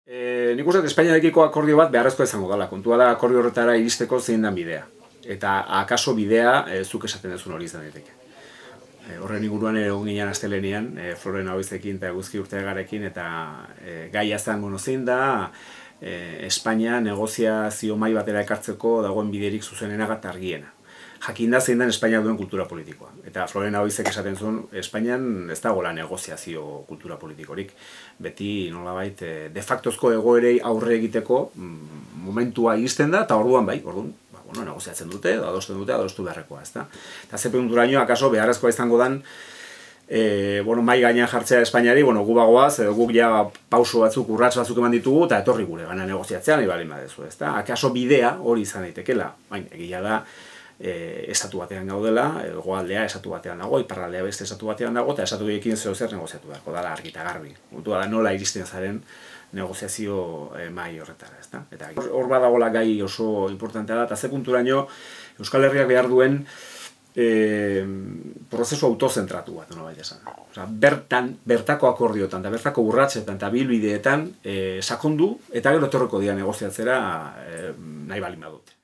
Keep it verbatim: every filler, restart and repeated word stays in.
E, nik uste Espainiarekiko akordio bat beharrezkoa izango dela. Kontua da akordio horretara iristeko zein den bidea. Eta akaso bidea e, zuk esaten duzun hori izan daiteke. E, horren inguruan egon ginen astelehenean, e, Floren Abizekin eta Eguzki Urteagarekin, eta e, gaia zen, bueno, zein da e, Espainia negoziazio mahai batera ekartzeko dagoen biderik zuzenena eta argiena. Jakinda zein den Espainia duen kultura politikoa. Eta Floren Abizek esaten zuen, Espainian ez dagoela negoziazio kultura politikorik. Beti nolabait de factozko egoerei aurre egiteko momentua iristen da, eta orduan bai, orduan, ba, bueno, negoziatzen dute, adosten dute, adostu beharrekoa, ezta. Eta ze punturaino, akaso beharrezkoa izango dan, e, bueno, mai gainean jartzea Espainiari, bueno, gu bagoaz, edo guk ja pauso batzuk, urrats batzuk eman ditugu, eta etorri gure gana negoziatzean, nahi balin badezu, ezta. Akaso bidea hori izan daitekela, baina egia da, E, estatu batean gaudela, hegoaldea estatu batean dago, iparraldea beste estatu batean dago, eta estatu horiekin zeo zer negoziatu beharko dala argi eta garbi. Kontua da nola iristen zaren negoziazio e, mahai horretara, ezta? Eta hor badagoela gai oso importantea da, eta ze punturaino Euskal Herriak behar duen e, prozesu autozentratu bat, nolabait esan. Osea, bertan, bertako akordiotan, eta bertako urratsetan eta bilbideetan e, sakondu, eta gero etorriko dira negoziatzera e, nahi balin badute.